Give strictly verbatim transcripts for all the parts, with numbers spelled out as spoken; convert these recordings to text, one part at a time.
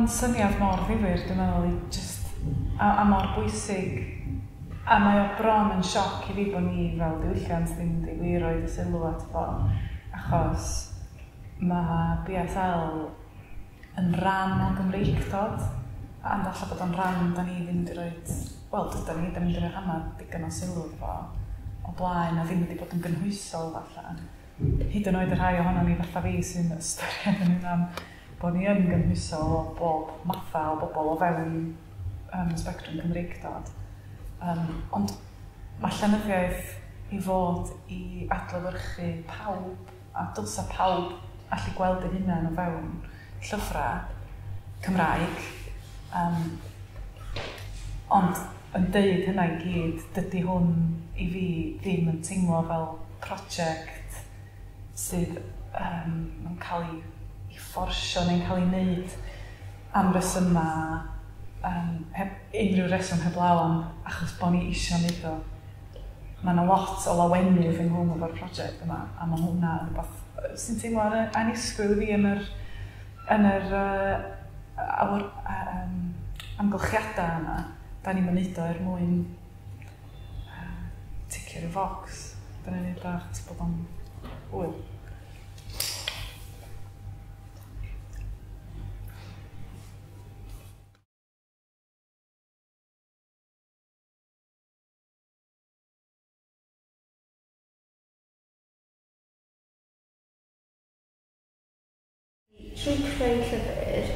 Mae'n syniad mor ddifyr, dwi'n meddwl, i just, a, a mor bwysig. A mae o bron yn sioc i fi bod ni fel diwylliant ddim wedi wir roid y sylw at fo, achos mae B S L yn rhan o Gymreictod, a ond alla bod o'n rhan da ni ddim wedi roid, wel, dydan ni, da ni wedi rhoi hanner digon o sylw iddo fo o blaen, a ddim wedi bod yn gynhwysol falle. Hyd yn oed y rhai ohono ni fatha fi sy'n ystyried yn hunan bod ni yn gynhwysol o bob matha o bobl o fewn um, sbectrwm Cymreictod. Um, ond mae llenyddiaeth i fod i adlewyrchu pawb, a dylsa pawb allu gweld eu hunain o fewn llyfrau Cymraeg. Um, ond yn deud hynna i gyd, dydy hwn i fi ddim yn teimlo fel prosiect sydd um, yn cael ei, ei fforsio neu'n cael ei wneud am resymau, um, heb unrhyw reswm heblaw am achos bod ni eisiau wneud o. Mae yna lot o lawenydd ynghlwm efo'r prosiect yma, a mae hwnna yn rhywbeth sy'n teimlo annisgwyl i fi yn yr, yn yr uh, awr, um, amgylchiadau yma. Da ni'n mynd o er mwyn uh, ticio ryw focs. Da ni'n neud o achos bod o'n hwyl. Trwy creu llyfr,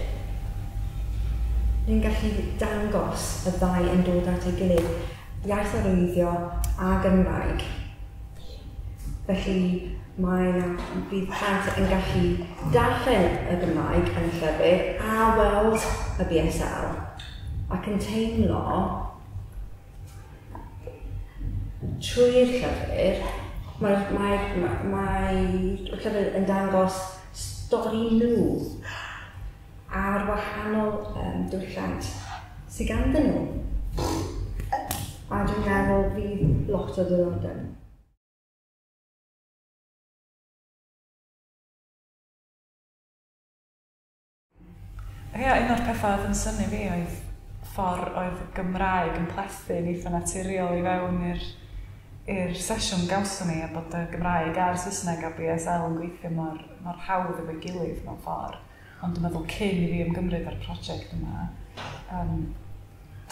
ni'n gallu dangos y ddau yn dod at ei gilydd, iaith arwyddio a Gymraeg. Felly mae bydd plant yn gallu darllen y Gymraeg yn y llyfr a weld y B S L ac yn teimlo trwy'r llyfr, mae'r mae, mae, mae llyfr yn dangos stori nhw a'r wahanol um, diwylliant sydd ganddyn nhw. A dwi'n meddwl fydd lot o ddiddordeb. Ia, un o'r pethau oedd yn synnu fi oedd ffordd oedd y Gymraeg yn plethu'n eitha naturiol i fewn i'r i'r sesiwn gawson ni, a bod y Gymraeg a'r Saesneg a B S L yn gweithio mor, mor hawdd efo'i gilydd mewn ffordd. Ond dwi'n meddwl cyn i fi ymgymryd â'r prosiect yma, um,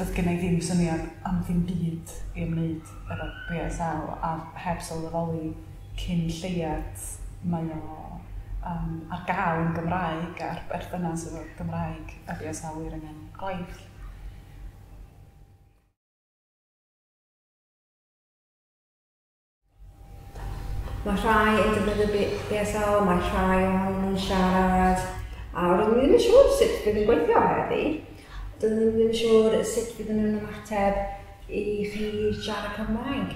doedd gen i ddim syniad am ddim byd i ymwneud efo B S L, a heb sylweddoli cyn lleiad mae o um, ar gael yn Gymraeg a'r berthynas efo Gymraeg a B S L wir angen gwaith. Mae rhai yn defnyddio B S L, mae rhai ohonyn nhw'n siarad, a roeddwn i ddim yn siŵr sut fydd yn gweithio heddi. Doeddwn i ddim yn siŵr sut fydd nhw'n ymateb i chi siarad Cymraeg.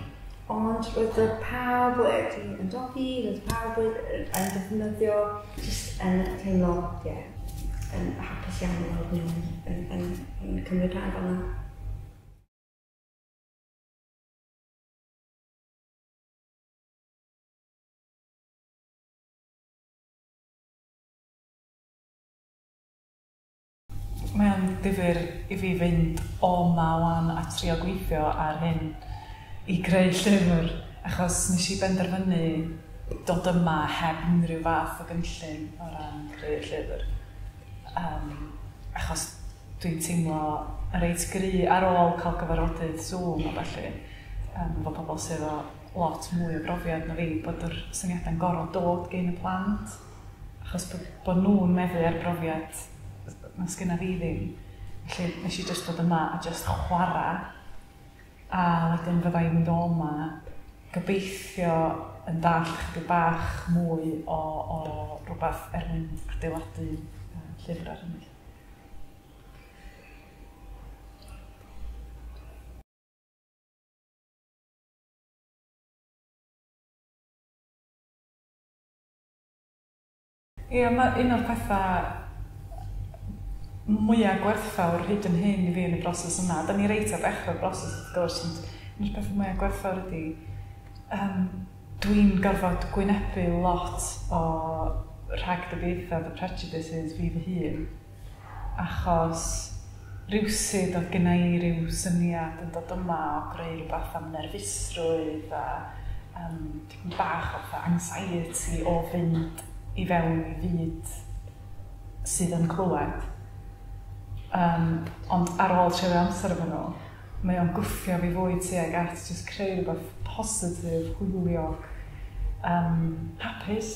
Ond roedd y pawb wedi ymdopi, roedd pawb wedi yn defnyddio, jyst yn teimlo, ie, yn hapus iawn i weld nhw yn, yn, yn cymryd rhan fel yna. Mae o'n ddifyr i fi fynd o 'ma wan a trio gweithio ar hyn i greu llyfr, achos nes i benderfynu dod yma heb unrhyw fath o gynllun o ran creu'r llyfr. Um, achos dwi'n teimlo yn reit gry ar ôl cael gyfarfodydd Zoom a ballu, um, efo pobl sydd o lot mwy o brofiad na fi, bod yr syniadau'n gorfod dod gen y plant, achos bod, bod nhw'n meddu ar brofiad na sgynna fi ddim. Felly nes i jyst dod yma a jyst chwarae, a wedyn fydda i'n mynd o yma gobeithio yn dallt chydig bach mwy o, o rhywbeth er mwyn adeiladu uh, llyfr ar hynny. Ie, mae un o'r pethau mwyaf gwerthfawr hyd yn hyn i fi yn y broses yma. Da ni reit ar ddechrau'r broses, wrth gwrs, ond un o'r pethau mwyaf gwerthfawr ydy, um, dwi'n gorfod gwynebu lot o rhagdybiaethau, the prejudices fi fy hun. Achos rywsut oedd gynna i ryw syniad yn dod yma o greu rhywbeth am nerfusrwydd a um, tipyn bach o fatha anxiety o fynd i fewn i fyd sydd yn clywed. Um, ond ar ôl treulio amser efo nhw, mae o'n gwthio fi fwy tuag at just creu rhywbeth positif, hwyliog, um, hapus.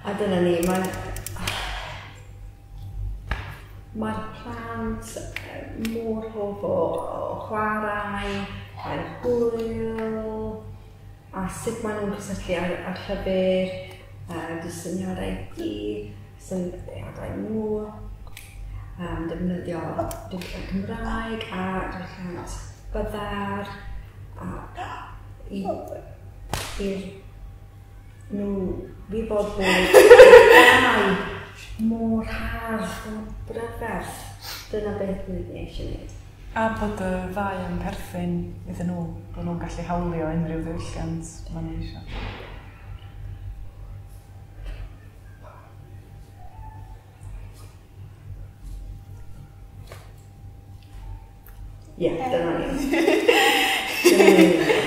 A dyna ni, mae'n... Mae'r plant mor hoff o, o chwarae, mae'n hwyl, a sut maen nhw'n cysylltu â'r, â'r llyfr, uh, dy syniadau ti, syniadau nhw, um, defnyddio diwylliant Cymraeg a diwylliant byddar, a i, i'r nhw wybod bod y mor hardd, mor brydferth. Dyna beth ni eisiau gwneud. A bod y ddau yn perthyn iddyn nhw, bod nhw'n gallu hawlio unrhyw ddiwylliant maen nhw eisiau. Ie, yeah, dyna ni. Dyna ni.